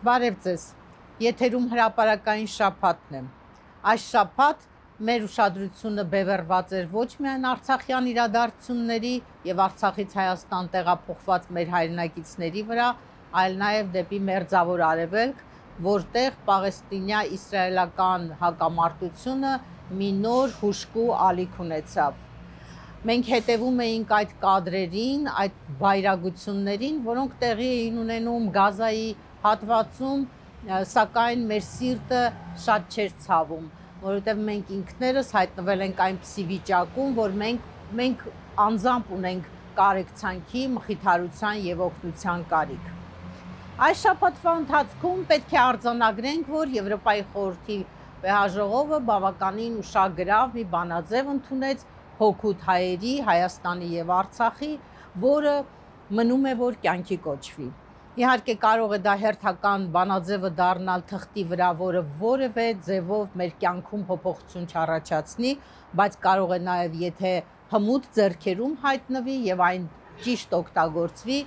Բարև ձեզ, եթերում հրապարակային շաբաթն է։ Այս շաբաթ մեր ուշադրությունը բևեռված էր ոչ միայն արցախյան իրադարձությունների եւ Արցախից Հայաստան տեղափոխված մեր հայրենակիցների վրա, այլ նաեւ դեպի Մերձավոր Արևելք, որտեղ պաղեստինյա-իսրայելական հակամարտությունը մի նոր հուժկու ալիք ունեցավ։ Մենք հետևում էինք այդ կադրերին, այդ վայրագություններին, որոնք տեղի էին ունենում Գազայի հատվածում, սակայն մեր սիրտը շատ չէր ցավում, որովհետև մենք ինքներս հայտնվել ենք այնպիսի վիճակում, որ մենք անձամբ ունենք կարեկցանքի, մխիթարության եւ օգնության կարիք։ Այս շաբաթվա ընթացքում պետք է արձանագրենք, որ Եվրոպայի խորհրդի վեհաժողովը բավականին ուշագրավ մի բանաձև ընդունեց հօգուտ հայերի, Հայաստանի եւ Արցախի, որը մնում է որ կյանքի կոչվի։ Իհարկե կարող է դա հերթական բանաձևը դառնալ թղթի վրա, որը որևէ ձևով մեր կյանքում փոփոխություն չառաջացնի, բայց կարող է նաեւ եթե հմուտ ձեռքերում հայտնվի եւ այն ճիշտ օգտագործվի,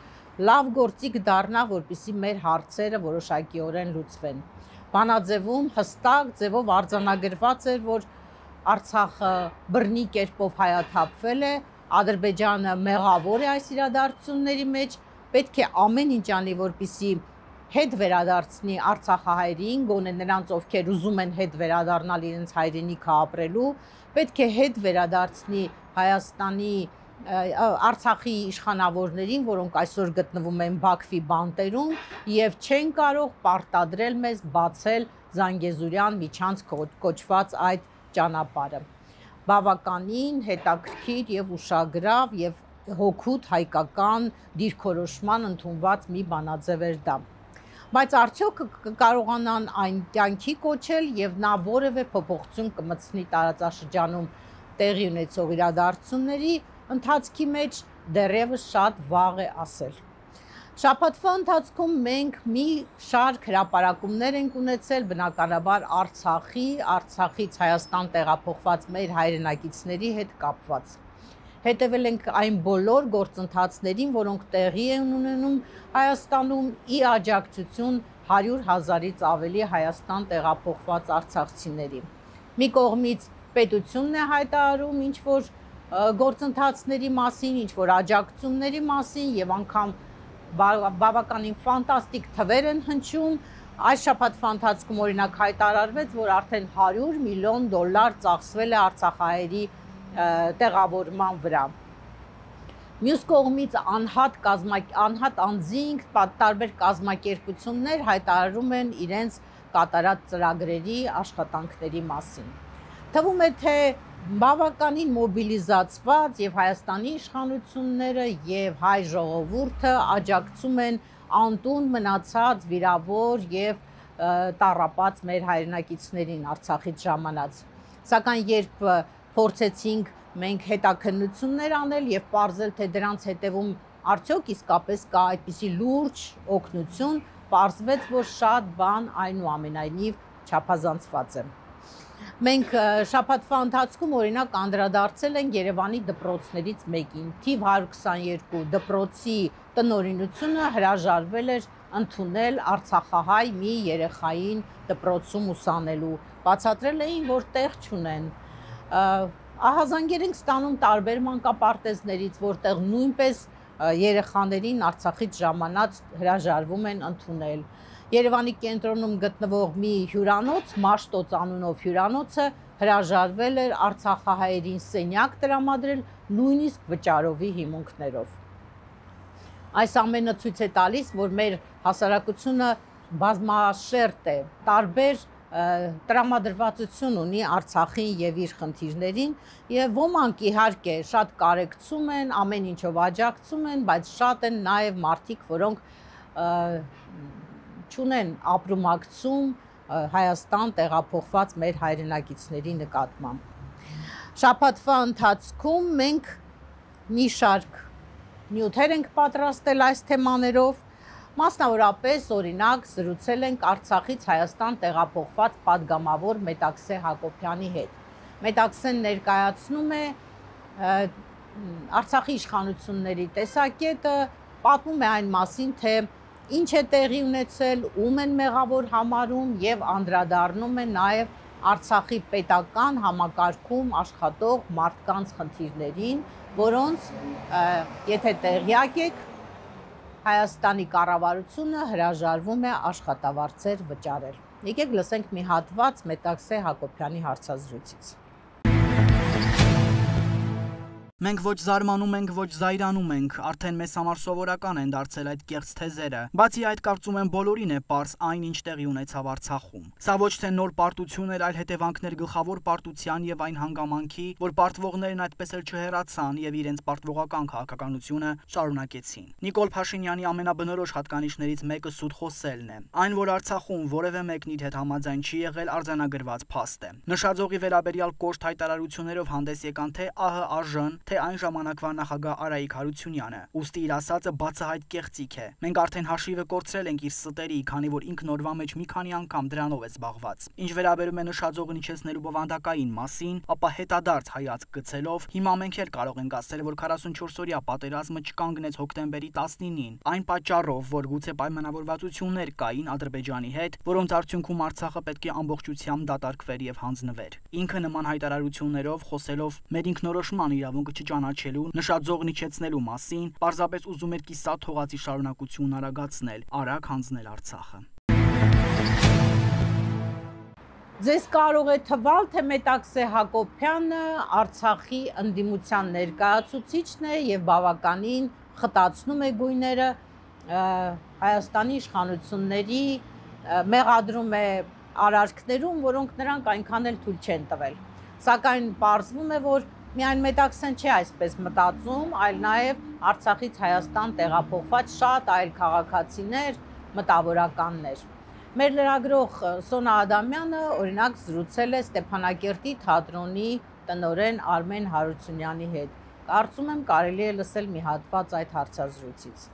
լավ գործիք դառնա, որպեսզի մեր հարցերը որոշակիորեն լուծվեն։ Բանաձևում հստակ ձևով արձանագրված էր, որ Արցախը բռնի կերպով հայաթափվել է, Ադրբեջանը մեղավոր է այս իրադարձությունների մեջ, պետք է ամեն ինչ անի, որպեսզի հետ վերադարձնի արցախահայերին, գոնե նրանց, ովքեր ուզում են հետ վերադառնալ իրենց հայրենիքը ապրելու, պետք է հետ վերադարձնի Հայաստանի Արցախի իշխանավորներին, որոնք այսօր գտնվում են Բաքվի բանտերում եւ չեն կարող պարտադրել մեզ բացել Զանգեզուրյան միջանց կոչված այդ ճանապարհը։ Բավականին հետաքրքիր եւ ուշագրավ եւ հօգուտ հայկական դիրքորոշման ընդունված մի բանաձև էր դա։ Բայց արդյոք կկարողանան այն կյանքի կոչել եւ նա որևէ փոփոխություն կմտցնի տարածաշրջանում տեղի ունեցող իրադարձությունների ընթացքի մեջ դեռևս շատ վաղ է ասել։ Շաբաթվա ընթացքում մենք մի շարք հրապարակումներ ենք ունեցել բնականաբար Արցախից Հայաստան տեղափոխված մեր հայրենակիցների հետ կապված։ Հետևել ենք այն բոլոր գործընթացներին, որոնք տեղի են ունենում Հայաստանում ի աջակցություն 100,000-ից ավելի Հայաստան տեղափոխված արցախցիների։ Մի կողմից պետությունն է հայտարարում ինչ-որ գործընթացների մասին, ինչ-որ աջակցությունների մասին եւ անգամ բավականին ֆանտաստիկ թվեր են հնչում։ Այս շաբաթվա ընթացքում օրինակ հայտարարվեց, որ արդեն $100 միլիոն ծախսվել է արցախահայերի տեղավորման վրա։ Մյուս կողմից անհատ անձինք, տարբեր կազմակերպություններ հայտարարում են իրենց կատարած ծրագրերի, աշխատանքների մասին։ Թվում է, թե բավականին մոբիլիզացված եւ Հայաստանի իշխանությունները եւ հայ ժողովուրդը աջակցում են անտուն մնացած վիրավոր եւ տառապած մեր հայրենակիցներին Արցախից ժամանած։ Սակայն երբ փորձեցինք մենք հետաքննություններ անել եւ պարզել, թե դրանց հետևում արդյոք իսկապես կա այդպիսի լուրջ օգնություն, պարզվեց, որ շատ բան այնուամենայնիվ չափազանցված է։ Մենք շաբաթվա ընթացքում օրինակ անդրադարձել ենք Երևանի դպրոցներից մեկին, թիվ 122 դպրոցի տնօրինությունը հրաժարվել էր ընդունել արցախահայ մի երեխային դպրոցում ուսանելու, բացատրել էին, որ տեղ չունեն։ Ահազանգեր ենք ստանում տարբեր մանկապարտեզներից, որտեղ նույնպես երեխաներին Արցախից ժամանած հրաժարվում են ընդունել։ Երևանի կենտրոնում գտնվող մի հյուրանոց, Մաշտոց անունով հյուրանոցը հրաժարվել էր արցախահայերին սենյակ տրամադրել նույնիսկ վճարովի հիմունքներով։ Այս ամենը ցույց է տալիս, որ մեր հասարակությունը բազմաշերտ է, տարբեր տրամադրվածություն ունի Արցախին եւ իր խնդիրներին եւ ոմանք իհարկե շատ կարեկցում են, ամեն ինչով աջակցում են, բայց շատ են նաեւ մարդիկ, որոնք չունեն ապրումակցում Հայաստան տեղափոխված մեր հայրենակիցների նկատմամբ։ Շաբաթվա ընթացքում մենք մի շարք նյութեր ենք պատրաստել այս թեմաներով, մասնավորապես օրինակ զրուցել ենք Արցախից Հայաստան տեղափոխված падգամավոր Մետաքսե Հակոբյանի հետ։ Մետաքսեն ներկայացնում է Արցախի իշխանությունների տեսակետը, պատմում է այն մասին, թե ինչ է տեղի ունեցել, ում են մեղավոր համարում եւ անդրադառնում է նաեւ Արցախի պետական համակարգում աշխատող մարդկանց խնդիրներին, որոնց եթե տեղյակ եք, Հայաստանի կառավարությունը հրաժարվում է աշխատավարձեր վճարել։ Եկեք լսենք մի հատված Մետաքսե Հակոբյանի հարցազրույցից։ Մենք ոչ զարմանում ենք, ոչ զայրանում ենք, արդեն մեզ համար սովորական են դարձել այդ կեղծ թեզերը։ Բացի այդ, կարծում եմ բոլորին է պարզ այն, ինչ տեղի ունեցավ Արցախում։ Սա ոչ թե նոր պարտություն էր, այլ հետևանքներ գլխավոր պարտության եւ այն հանգամանքի, որ պարտվողներն այդպես էլ չհեռացան եւ իրենց պարտվողական քաղաքականությունը շարունակեցին։ Նիկոլ Փաշինյանի ամենաբնորոշ հատկանիշներից մեկը սուտ խոսելն է։ Այն, որ Արցախում որևէ մեկն իր հետ համաձայն չի եղել, արձանագրված փաստ է։ Նշաձողի վերաբերյալ կոշտ հայտարարություններով հանդես եկան թե ԱՀԱԺ-ն, թե այն ժամանակվա նախագահ Արայիկ Հարությունյանը, ուստի իր ասածը բացահայտ կեղծիք է։ Մենք արդեն հաշիվը կորցրել ենք իր ստերի, քանի որ ինքն օրվա մեջ մի քանի անգամ դրանով է զբաղված։ Ինչ վերաբերում է նշաձողը իջեցնելու բովանդակային մասին, ապա հետադարձ հայացք գցելով հիմա մենք էլ կարող ենք ասել, որ 44-օրյա պատերազմը չկանգնեց հոկտեմբերի 19-ին, այն պատճառով, որ գուցե պայմանավորվածություններ կային Ադրբեջանի հետ, որոնց արդյունքում Արցախը պետք է ամբողջությամբ դատարկվեր եւ հանձնվեր։ Ինքը նման հայտարարություններով խոսելով մեր ինքնորոշման իրավունքը չճանաչելու, նշաձողն իջեցնելու մասին, պարզապես ուզում էր կիսատ թողածի շարունակությունն արագացնել, արագ հանձնել Արցախը։ Ձեզ կարող է թվալ, թե Մետաքսե Հակոբյանը Արցախի ընդդիմության ներկայացուցիչն է եւ բավականին խտացնում է գույները Հայաստանի իշխանությունների, մեղադրում է արարքներում, որոնք նրանք այնքան էլ թույլ չեն տվել։ Սակայն պարզվում է, որ միայն Մետաքսեն չէ այսպես մտածում, այլ նաև Արցախից Հայաստան տեղափոխված շատ այլ քաղաքացիներ, մտավորականներ։ Մեր լրագրող Սոնա Ադամյանը օրինակ զրուցել է Ստեփանակերտի թատրոնի տնօրեն Արմեն Հարությունյանի հետ։ Կարծում եմ կարելի է լսել մի հատված այդ հարցազրույցից։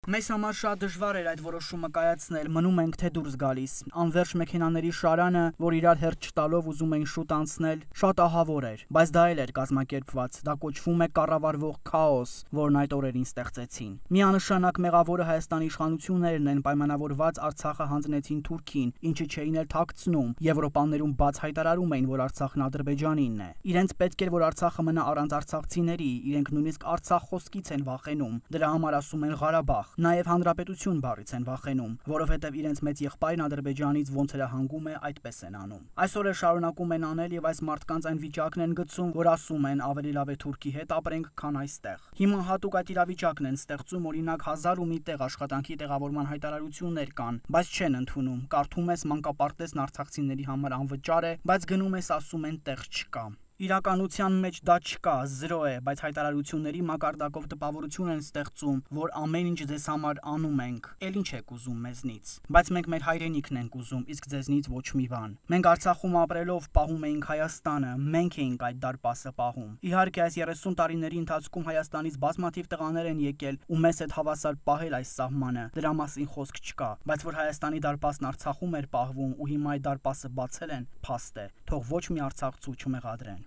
Մեզ համար շատ դժվար էր այդ որոշումը կայացնել, մնում ենք թե դուրս գալիս։ Անվերջ մեքենաների շարանը, որ իրար հերթ չտալով ուզում էին շուտ անցնել, շատ ահավոր էր, բայց դա էլ էր կազմակերպված, դա կոչվում է կառավարվող քաոս, որն այդ օրերին ստեղծեցին։ Միանշանակ մեղավորը Հայաստանի իշխանություններն են, պայմանավորված Արցախը հանձնեցին Թուրքին, ինչը չէին էլ թաքցնում, Եվրոպաներում բաց հայտարարում էին, որ Արցախն Ադրբեջանինն է։ Իրենց պետք էր, որ Արցախը մնա առանց արցախցիների, իրենք նույնիսկ Արցախ խոսքից են վախենում, դրա համար ասում են Ղարաբաղ։ Նաև հանրապետություն բառից են վախենում, որովհետև իրենց մեծ եղբայրն Ադրբեջանից ոնց հրահանգում է, այդպես են անում։ Այսօր էլ շարունակում են անել եւ այս մարդկանց այն վիճակն են գցում, որ ասում են ավելի լավ է Թուրքի հետ ապրենք, քան այստեղ։ Հիմա հատուկ այդ իրավիճակն են ստեղծում, օրինակ 1001 տեղ աշխատանքի տեղավորման հայտարարություններ կան, բայց չեն ընդունում։ Կարդում ես մանկապարտեզն արցախցիների համար անվճար է, բայց գնում ես ասում են տեղ չկա։ Իրականության մեջ դա չկա, 0 է, բայց հայտարարությունների մակարդակով տպավորություն են ստեղծում, որ ամեն ինչ ձեզ համար անում ենք, էլ ինչ եք ուզում մեզնից, բայց մենք մեր հայրենիքն ենք ուզում, իսկ ձեզնից ոչ մի բան։ Մենք Արցախում ապրելով պահում էինք Հայաստանը, մենք էինք այդ դարպասը պահում։ Իհարկե այս 30 տարիների ընթացքում Հայաստանից բազմաթիվ տղաներ են եկել ու մեզ հետ հավասար պահել այս սահմանը, դրա մասին խոսք չկա, բայց որ Հայաստանի դարպասն Արցախում էր պահվում ու հիմա այդ դարպասը բացել են, փաստ է, թող ոչ մի արցախցու չմեղադրեն։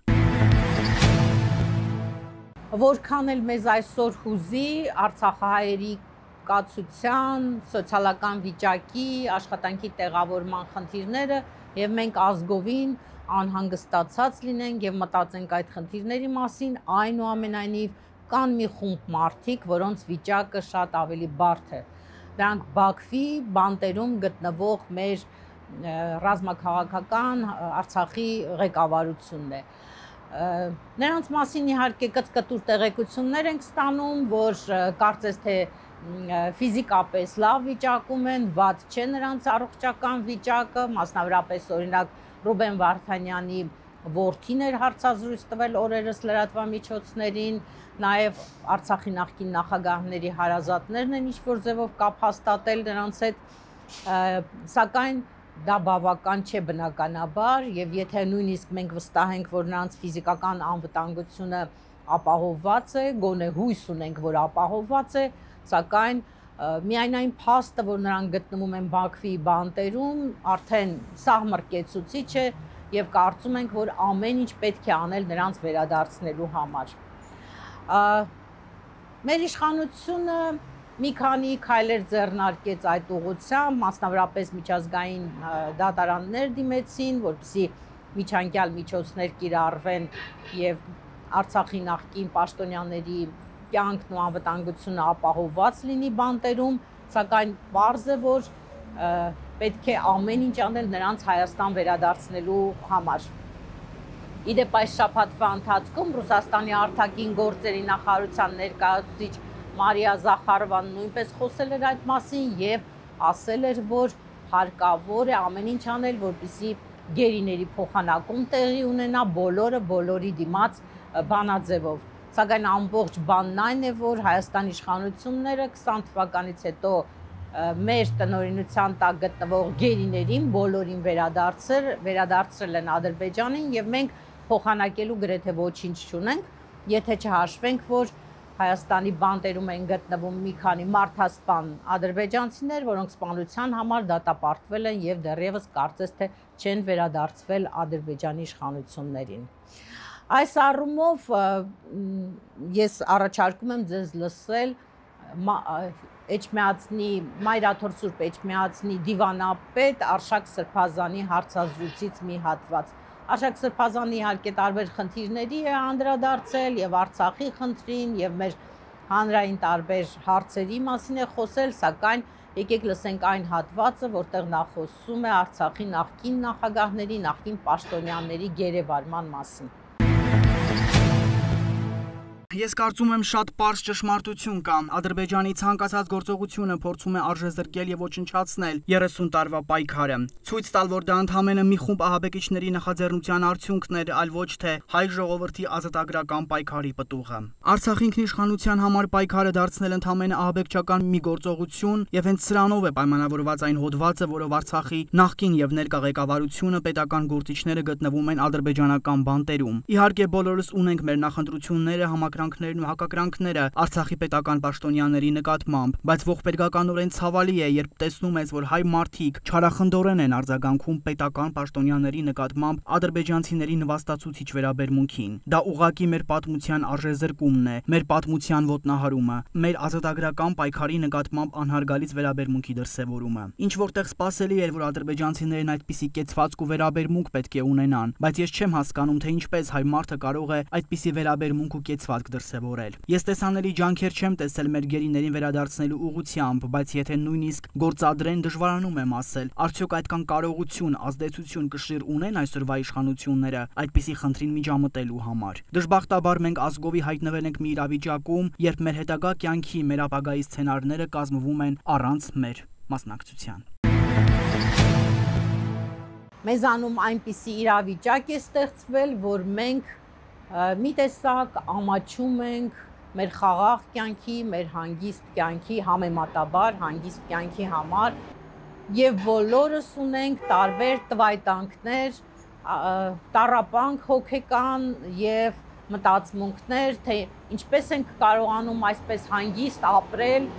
Որքան էլ մեզ այսօր հուզի Արցախահայերի կացության, սոցիալական վիճակի, աշխատանքի տեղավորման խնդիրները եւ մենք ազգովին անհանգստացած լինենք եւ մտածենք այդ խնդիրների մասին, այնուամենայնիվ կան մի խումբ մարդիկ, որոնց վիճակը շատ ավելի բարդ է։ Դրանք Բաքվի բանտերում գտնվող մեր ռազմաքաղաքական Արցախի ղեկավարությունն է։ Նրանց մասին իհարկե կծկտուր տեղեկություններ ենք ստանում, որ կարծես թե ֆիզիկապես լավ վիճակում են, վատ չէ նրանց առողջական վիճակը, մասնավորապես օրինակ Ռուբեն Վարդանյանի որդին էր հարցազրույց տվել օրերս լրատվամիջոցներին, նաև Արցախի նախկին նախագահների հարազատներն են ինչ-որ ձևով կապ հաստատել նրանց հետ, սակայն դա բավական չէ բնականաբար եւ եթե նույնիսկ մենք վստահենք, որ նրանց ֆիզիկական անվտանգությունը ապահովված է, գոնե հույս ունենք, որ ապահովված է, սակայն միայն այն փաստը, որ նրանք գտնվում են Բաքվի բանտերում, արդեն սահմռկեցուցիչ է եւ կարծում ենք, որ ամեն ինչ պետք է անել նրանց վերադարձնելու համար։ Մեր իշխանությունը մի քանի քայլեր ձեռնարկեց այդ ուղղությամբ, մասնավորապես միջազգային դատարաններ դիմեցին, որպեսզի միջանկյալ միջոցներ կիրառվեն եւ Արցախի նախկին պաշտոնյաների կյանքն ու անվտանգությունը ապահովված լինի բանտերում, սակայն պարզ է, որ պետք է ամեն ինչ անել նրանց Հայաստան վերադարձնելու համար։ Իդեպ այս շաբաթվա ընթացքում Ռուսաստանի արտաքին գործերի նախարարության ներկայացուցիչ Մարիա Զախարովան նույնպես խոսել էր այդ մասին եւ ասել էր, որ հարկավոր է ամեն ինչ անել, որպեսզի գերիների փոխանակում տեղի ունենա բոլորի դիմաց բանաձևով։ Սակայն ամբողջ բանն այն է, որ Հայաստանի իշխանությունները 20 թվականից հետո մեր տնօրինության տակ գտնվող գերիներին բոլորին վերադարձրել են Ադրբեջանին եւ մենք փոխանակելու գրեթե ոչինչ չունենք, եթե չհաշվենք, որ Հայաստանի բանտերում են գտնվում մի քանի մարդասպան ադրբեջանցիներ, որոնք սպանության համար դատապարտվել են եւ դեռևս կարծես թե չեն վերադարձվել Ադրբեջանի իշխանություններին։ Այս առումով ես առաջարկում եմ ձեզ լսել Մայրաթոր Սուրբ Էջմիածնի դիվանապետ Արշակ Սրբազանի հարցազրույցից մի հատված։ Արշակ Սրբազանը իհարկե տարբեր խնդիրների է անդրադարձել եւ Արցախի խնդրին եւ մեր հանրային տարբեր հարցերի մասին է խոսել, սակայն եկեք լսենք այն հատվածը, որտեղ նա խոսում է Արցախի նախկին նախագահների, նախկին պաշտոնյաների գերեվարման մասին։ Ես կարծում եմ շատ պարզ ճշմարտություն կա։ Ադրբեջանի ցանկացած գործողությունը փորձում է արժեզրկել եւ ոչնչացնել 30 տարվա պայքարը։ Ցույց տալ, որ դա ընդհանրապես մի խումբ ահաբեկիչների նախաձեռնության արդյունքն էր, այլ ոչ թե հայ ժողովրդի ազատագրական պայքարի պտուղը։ Արցախի ինքնիշխանության համար պայքարը դարձնել ընդհանրապես ահաբեկչական մի գործողություն եւ հենց սրանով է պայմանավորված այն հոդվածը, որով Արցախի նախկին եւ ներկա ղեկավարությունը պետական գործիչները գտնվում են ադրբեջանական բանտերում։ Իհարկե բոլորս ունենք մեր նախընտրությունները, համակրանքներն ու հակակրանքները Արցախի պետական պաշտոնյաների նկատմամբ, բայց ողբերգականորեն ցավալի է, երբ տեսնում ես, որ հայ մարդիկ չարախնդորեն են արձագանքում պետական պաշտոնյաների նկատմամբ ադրբեջանցիների նվաստացուցիչ վերաբերմունքին։ Դա ուղղակի մեր պատմության արժեզրկումն է, մեր պատմության ոտնահարումը, մեր ազատագրական պայքարի նկատմամբ անհարգալից վերաբերմունքի դրսևորումը։ Ինչ որտեղ սպասելի էր, որ ադրբեջանցիներն այդպիսի կեցվածք ու վերաբերմունք պետք է ունենան, բայց ես չեմ հասկանում, թե ինչպես հայ մարդը կարող է այդպիսի վերաբերմունք ու կեցվածք դրսևորել։ Ես տեսանելի ջանքեր չեմ տեսել մեր գերիներին վերադարձնելու ուղղությամբ, բայց եթե նույնիսկ գործադրեն, դժվարանում եմ ասել, արդյոք այդքան կարողություն, ազդեցություն կշիռ ունեն այսօրվա իշխանությունները այդպիսի խնդրին միջամտելու համար։ Դժբախտաբար մենք ազգովի հայտնվել ենք մի իրավիճակում, երբ մեր հետագա կյանքի, մեր ապագայի սցենարները կազմվում են առանց մեր մասնակցության։ Մեզանում այնպիսի իրավիճակ է ստեղծվել, որ մենք մի տեսակ ամաչում ենք մեր խաղաղ կյանքի, մեր հանգիստ կյանքի, համեմատաբար հանգիստ կյանքի համար եւ բոլորս ունենք տարբեր տվայտանքներ, տառապանք հոգեկան եւ մտածմունքներ, թե ինչպես ենք կարողանում այսպես հանգիստ ապրել,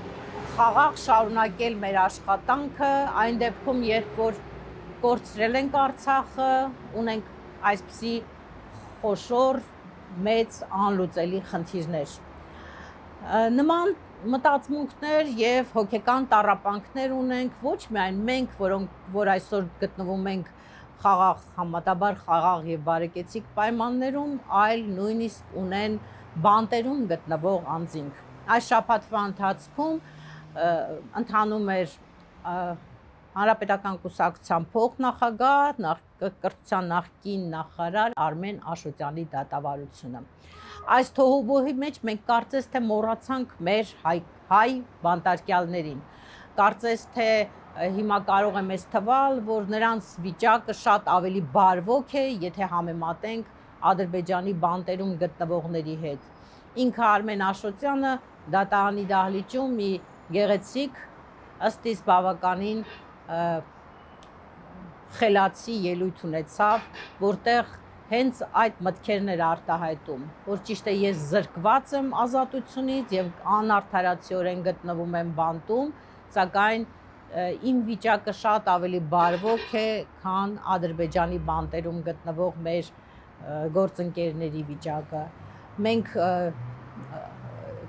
խաղաղ շարունակել մեր աշխատանքը, այն դեպքում, երբ որ կորցրել ենք Արցախը, ունենք այսպիսի խոշոր մեծ անլուծելի խնդիրներ։ Նման մտածմունքներ եւ հոգեկան տառապանքներ ունենք ոչ միայն մենք, որ այսօր գտնվում ենք խաղաղ, համատաբար խաղաղ եւ բարեկեցիկ պայմաններում, այլ նույնիսկ ունեն բանտերում գտնվող անձինք։ Այս շաբաթվա ընթացքում ընթանում էր Հանրապետական կուսակցության փոխնախագահ, կրթության նախկին նախարար Արմեն Աշոտյանի դատավարությունը։ Այս թոհուբոհի մեջ մենք կարծես թե մոռացանք մեր հայ բանտարկյալներին։ Կարծես թե հիմա կարող է մեզ թվալ, որ նրանց վիճակը շատ ավելի բարվոք է, եթե համեմատենք Ադրբեջանի բանտերում գտնվողների հետ։ Ինքը Արմեն Աշոտյանը դատարանի դահլիճում մի գեղեցիկ, ըստ իս բավականին խելացի ելույթ ունեցավ, որտեղ հենց այդ մտքերն էր արտահայտում, որ ճիշտ է ես զրկված եմ ազատությունից եւ անարդարացիորեն գտնվում եմ բանտում, սակայն իմ վիճակը շատ ավելի բարվոք է, քան Ադրբեջանի բանտերում գտնվող մեր գործընկերների վիճակը։ Մենք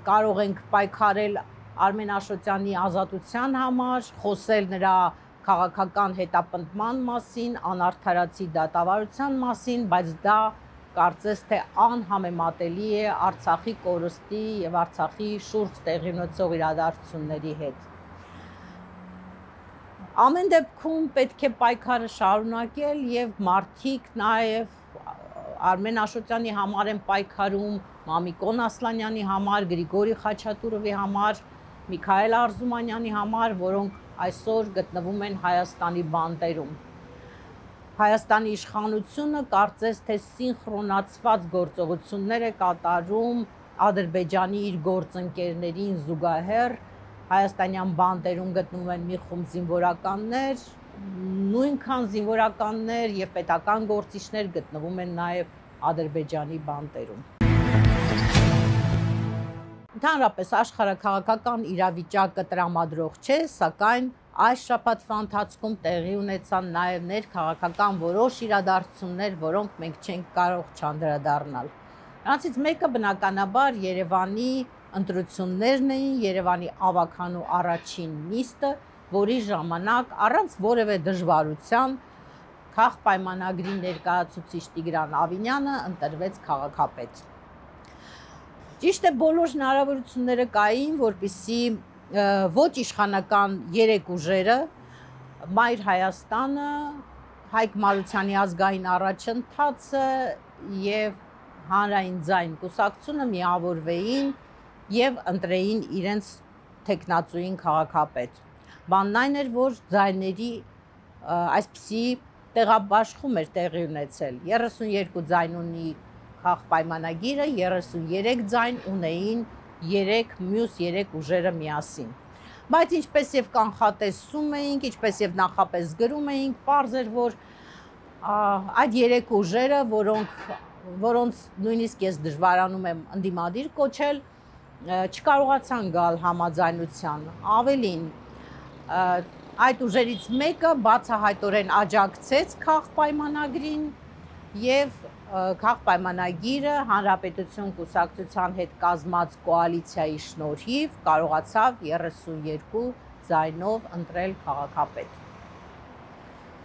կարող ենք պայքարել Արմեն Աշոտյանի ազատության համար, խոսել նրա քաղաքական հետապնդման մասին, անարդարացի դատավարության մասին, բայց դա կարծես թե անհամեմատելի է Արցախի կորստի եւ Արցախի շուրջ տեղի ունեցող իրադարձությունների հետ։ Ամեն դեպքում պետք է պայքարը շարունակել եւ մարդիկ նաեւ Արմեն Աշոտյանի համար են պայքարում, Մամիկոն Ասլանյանի համար, Գրիգորի Խաչատուրովի համար, Միքայել Արզումանյանի համար, որոնք այսօր գտնվում են Հայաստանի բանտերում։ Հայաստանի իշխանությունը կարծես թե սինխրոնացված գործողություններ է կատարում Ադրբեջանի իր գործընկերներին զուգահեռ, հայաստանյան բանտերում գտնվում են մի խումբ զինվորականներ, նույնքան զինվորականներ եւ պետական գործիչներ գտնվում են նաեւ Ադրբեջանի բանտերում։ Ընդհանրապես աշխարհաքաղաքական իրավիճակը տրամադրող չէ, սակայն այս շաբաթվա ընթացքում տեղի ունեցան նաեւ ներքաղաքական որոշ իրադարձություններ, որոնք մենք չենք կարող չանդրադառնալ։ Նրանցից մեկը բնականաբար Երևանի ընտրություններն էին, Երևանի ավագանու առաջին նիստը, որի ժամանակ առանց որևէ դժվարության քաղաքապայմանագրի ներկայացուցիչ Տիգրան Ավինյանը ընտրվեց քաղաքապետ։ Ճիշտ է, բոլոր հնարավորությունները կային, որպեսզի ոչ իշխանական երեք ուժերը, Մայր Հայաստանը, Հայկ Մարությանի ազգային առաջընթացը եւ Հանրային ձայն կուսակցությունը միավորվեին եւ ընտրեին իրենց թեկնածուին քաղաքապետ։ Բանն այն էր, որ ձայների այսպիսի տեղաբաշխում էր տեղի ունեցել։ 32 ձայն ունի քաղաքապայմանագիրը, 33 ձայն ունեին մյուս 3 ուժերը միասին։ Բայց ինչպես եւ կանխատեսում էինք, ինչպես եւ նախապես գրում էինք, պարզ էր, որ այդ 3 ուժերը, որոնց նույնիսկ ես դժվարանում եմ ընդդիմադիր կոչել, չկարողացան գալ համաձայնության։ Ավելին, այդ ուժերից մեկը բացահայտորեն աջակցեց քաղաքապայմանագրին եւ քաղաքապայմանագիրը Հանրապետություն կուսակցության հետ կազմած կոալիցիայի շնորհիվ կարողացավ 32 ձայնով ընտրել քաղաքապետ։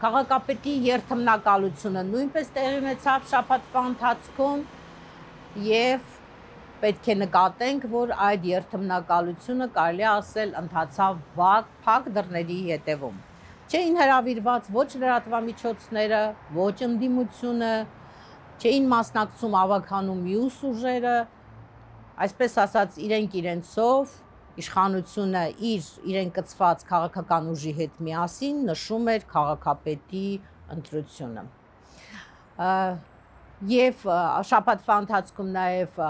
Քաղաքապետի երթմնակալությունը նույնպես տեղի ունեցավ շաբաթվա ընթացքում եւ պետք է նկատենք, որ այդ երթմնակալությունը կարելի է ասել ընթացավ փակ դռների ետևում։ Չէին հրավիրված ոչ լրատվամիջոցները, ոչ ընդդիմությունը, չէին մասնակցում ավագանու մյուս ուժերը, այսպես ասած իրենք իրենցով իշխանությունը իրեն կցված քաղաքական ուժի հետ միասին նշում էր քաղաքապետի ընտրությունը։ Եվ շաբաթվա ընթացքում նաև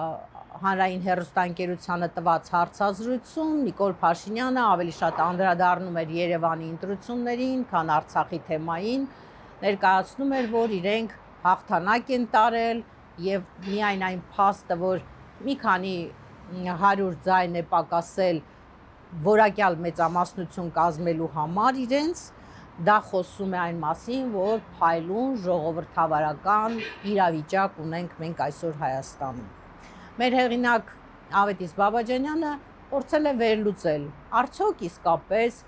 հանրային հեռուստաընկերությանը տված հարցազրույցում Նիկոլ Փաշինյանը ավելի շատ անդրադառնում էր Երևանի ընտրություններին, քան Արցախի թեմային, ներկայացնում էր, որ իրենք հաղթանակ են տարել եւ միայն այն փաստը, որ մի քանի 100 ձայն է պակասել որակյալ մեծամասնություն կազմելու համար իրենց, դա խոսում է այն մասին, որ փայլուն ժողովրդավարական իրավիճակ ունենք մենք այսօր Հայաստանում։ Մեր հեղինակ Ավետիս Բաբաջանյանը փորձել է վերլուծել, արդյոք իսկապես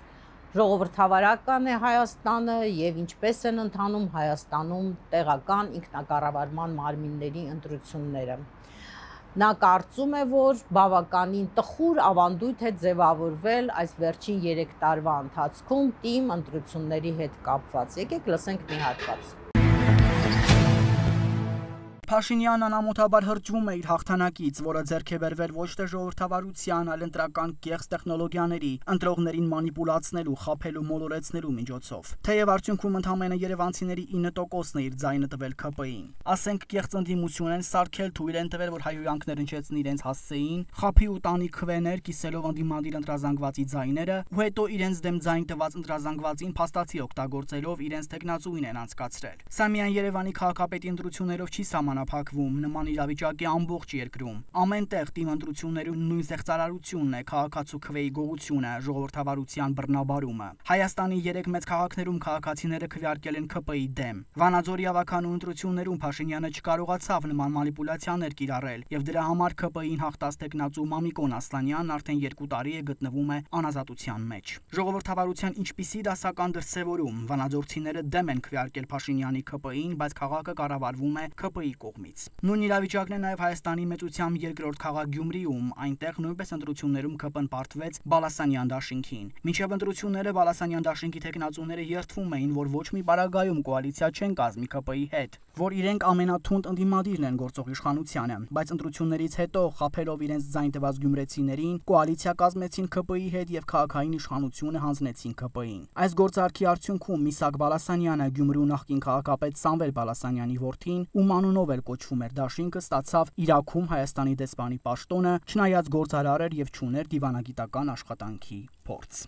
ժողովրդավարական է Հայաստանը եւ ինչպես են ընթանում Հայաստանում տեղական ինքնակառավարման մարմինների ընտրությունները։ Նա կարծում է, որ բավականին տխուր ավանդույթ է ձևավորվել այս վերջին 3 տարվա ընթացքում թիմ ընտրությունների հետ կապված։ Եկեք լսենք մի հատված։ Փաշինյանն անամոթաբար հրճվում է իր հաղթանակից, որը ձեռք է բերվել ոչ թե ժողովրդավարության, այլ ընտրական կեղծ տեխնոլոգիաների, ընտրողներին մանիպուլացնելու, խաբելու, մոլորեցնելու միջոցով։ Թեև արդյունքում ընդամենը երևանցիների 9%-ն է իր ձայնը տվել ՔՊ-ին։ Ասենք կեղծ ընդդիմություն են սարքել, թույլ են տվել, որ հայհոյանքներ հնչեցնի իրենց հասցեին, խափի ու տանի քվեներ, կիսելով ընդդիմադիր ընտրազանգվածի ձայները, ու հետո իրենց դեմ ձայն տված ընտրազանգվածին փաստացի օգտագործելով իրենց տեխնացուին են անցկացրել։ Սա միայն Երևանի քաղաքապետի ընտրություններով չի սահմանափակվում, սահմանափակվում, նման իրավիճակի ամբողջ երկրում։ Ամեն տեղ թիմ ընտրությունների նույն զեղծարարությունն է, քաղաքացու քվեի գողությունը, ժողովրդավարության բռնաբարումը։ Հայաստանի 3 մեծ քաղաքներում քաղաքացիները քվեարկել են ՔՊ-ի դեմ։ Վանաձորի ավականու ընտրություններում Փաշինյանը չկարողացավ նման մանիպուլյացիաներ կիրառել, եւ դրա համար ՔՊ-ին հաղթած տեխնացու Մամիկոն Ասլանյանն արդեն 2 տարի է գտնվում է անազատության մեջ։ Ժողովրդավարության ինչպիսի դասական դրսևորում վանաձորցիները դեմ են քվեարկել Փաշինյանի ՔՊ-ին, բայց քաղաքը կառավարվում է ՔՊ-ի կողմից։ Նույն իրավիճակն է նաև Հայաստանի մեծությամբ երկրորդ քաղաք Գյումրիում, այնտեղ նույնպես ընտրություններում ՔՊ-ն պարտվեց Բալասանյան դաշինքին։ Մինչև ընտրությունները Բալասանյան դաշինքի տեխնացուները երդվում էին, որ ոչ մի պարագայում կոալիցիա չեն կազմի ՔՊ-ի հետ, որ իրենք ամենաթունդ ընդդիմադիրն են գործող իշխանությանը, բայց ընտրություններից հետո խաբելով իրենց ձայն տված գյումրեցիներին կոալիցիա կազմեցին ՔՊ-ի հետ եւ քաղաքային իշխանությունը հանձնեցին ՔՊ-ին։ Այս գործարքի արդյունքում Միսակ Բալասանյանը, Գյումրու նախկին քաղաքապետ Սամվել Բալասանյանի որդին, ում անունով էլ կոչվում էր դաշինքը, ստացավ Իրաքում Հայաստանի դեսպանի պաշտոնը, չնայած գործարար էր եւ չուներ դիվանագիտական աշխատանքի փորձ։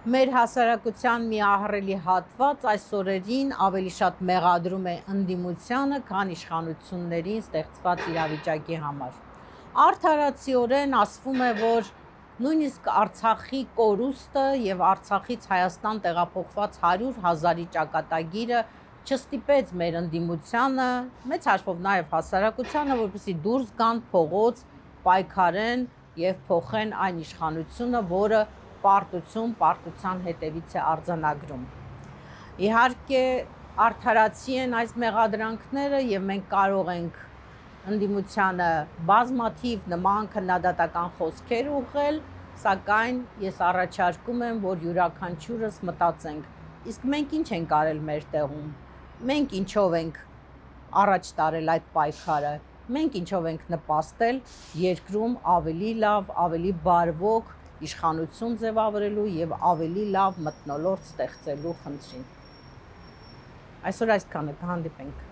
Մեր հասարակության մի ահռելի հատված այս օրերին ավելի շատ մեղադրում է ընդդիմությանը, քան իշխանություններին ստեղծված իրավիճակի համար։ Արդարացիորեն ասվում է, որ նույնիսկ Արցախի կորուստը եւ Արցախից Հայաստան տեղափոխված 100,000-ի ճակատագիրը չստիպեց մեր ընդդիմությանը, մեծ հաշվով նաեւ հասարակությանը, որպեսզի դուրս գան փողոց, պայքարեն եւ փոխեն այն իշխանությունը, որը պարտության հետևից է արձանագրում։ Իհարկե արդարացի են այս մեղադրանքները եւ մենք կարող ենք ընդդիմությանը բազմաթիվ նման քննադատական խոսքեր ուղղել, սակայն ես առաջարկում եմ, որ յուրաքանչյուրս մտածենք, իսկ մենք ինչ ենք արել մեր տեղում, մենք ինչով ենք առաջ տարել այդ պայքարը, մենք ինչով ենք նպաստել երկրում ավելի լավ, ավելի բարվոք իշխանություն ձևավորելու եւ ավելի լավ մթնոլորտ ստեղծելու խնդրին։ Այսօր այսքանը, կհանդիպենք։